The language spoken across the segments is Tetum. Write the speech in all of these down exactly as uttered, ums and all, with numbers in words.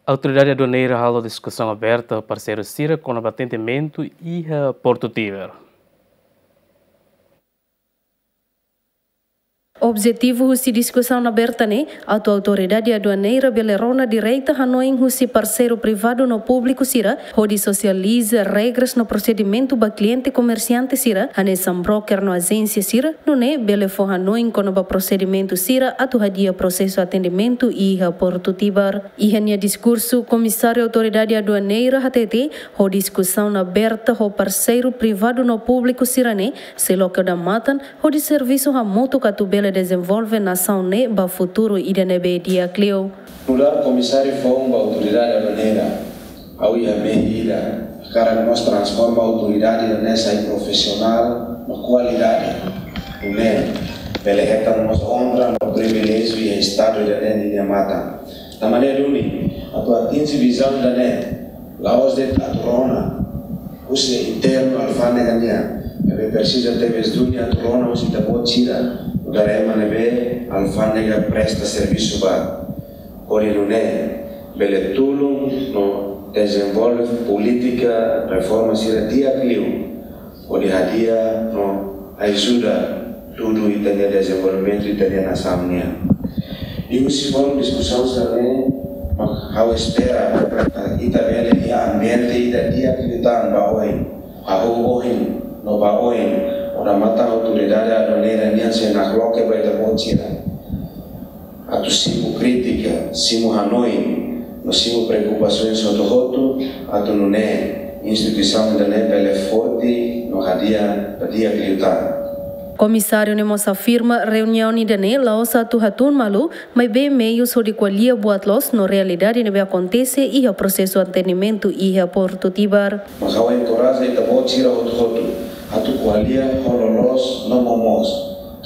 Autoridade aduaneira halo diskusaun aberta ho parseiru sira kona-ba atendimentu iha Portu Tibar. Objetivu husi diskusaun aberta ne'e, atu autoridade aduaneira bele rona direta hanoin husi parseiru privadu no públiku sira, hodi sosializa regras no prosedimentu ba kliente komersiante sira, hanesan broker no ajénsia sira, nune'e bele fó hanoin kona-ba prosedimentu sira atu hadi'a prosesu atendimentu iha Portu Tibar. Iha nia diskursu, Komisáriu Autoridade Aduaneira hateten, ho diskusaun aberta ho parseiru privadu no públiku sira-ne'e, sei loke odamatan, hodi servisu hamutuk atu bele dezenvolve nasaun ne'e ba futuru ida ne'ebé di'ak liu. Nu'udar komisáriu foun ba autoridade aduaneira, ha'u iha mehi ida, hakarak mós transforma autoridade ida-ne'e sai profisionál no kualidade. Nune'e, bele hetan mós onra no priviléjiu iha estadu ida-ne'e nia matan. Tanba ne'e duni, atu atinje vizaun ida-ne'e, la'ós de'it atu rona husi internu alfándega nian, maibé presiza tebes duni atu rona husi ita-boot sira, nu'udar ema ne'ebé alfándega presta servisu ba. Hodi nune'e, bele tulun no dezenvolve polítika reforma sira di'ak liu, hodi hadi'a no ajuda dudu ita-nia dezenvolvimentu ita-nia nasaun nian. I husi foin diskusaun sira-ne'e, mak ha'u espera, ah, ita bele iha ambiente ida di'ak liután ba oin, hahú ohin, no ba oin, odamatan autoridade aduaneira nian sei nakloke ba ita-boot sira. Atu simu krítika, simu hanoin, no simu preokupasaun hotu-hotu, atu nune'e instituisaun ida-ne'e bele forte no hadi'a ba di'ak liután. Komisáriu ne'e mós afirma reuniaun ida-ne'e la'ós atu hatún malu, maibé meius hodi ko'alia buat loos no realidade ne'ebé akontese iha prosesu atendimentu iha Portu Tibar. Mas ha'u enkoraja ita-boot sira hotu-hotu atu ko'alia ho loloos no momoos,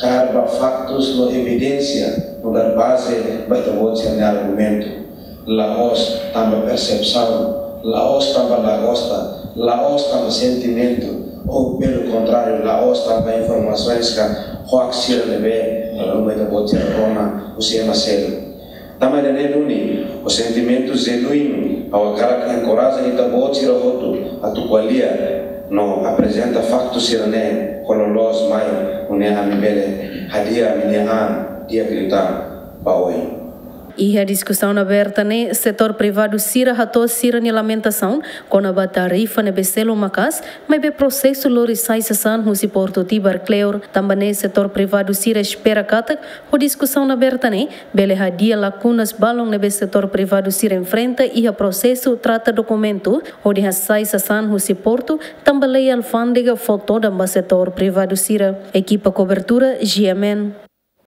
kaer ba faktus no evidénsia nu'udar baze ba ita-boot sira-nia argumentu. La'ós tanba persepsaun, la'ós tanba la gosta, la'ós tanba sentimentu, ou pelu kontráriu, la'ós tanba informasoens ka hoax sira ne'ebé dala ruma ita-boot sira rona husi ema seluk. Tanba ida-ne'e duni, ho sentimentu jenuínu, ha'u hakarak enkoraja ita-boot sira hotu atu ko'alia no aprezenta faktu sira-ne'e ho loloos mai, nune'e ami bele hadi'a ami-nia an di'ak liután ba oin. Iha diskusaun aberta ne'e, setór privadu sira hato'o sira-nia lamentasaun kona-ba tarifa ne'ebé selu maka'as, maibé prosesu lori sai sasán husi Portu Tibar kleur. Tanba ne'e setór privadu sira espera katak, ho diskusaun aberta ne'e, bele hadi'a lakunas balun ne'ebé setór privadu sira enfrenta iha prosesu trata dokumentu, hodi hasai sasán husi portu, tanba lei alfándega fó todan ba setór privadu sira. Ekipa kobertura, G M N.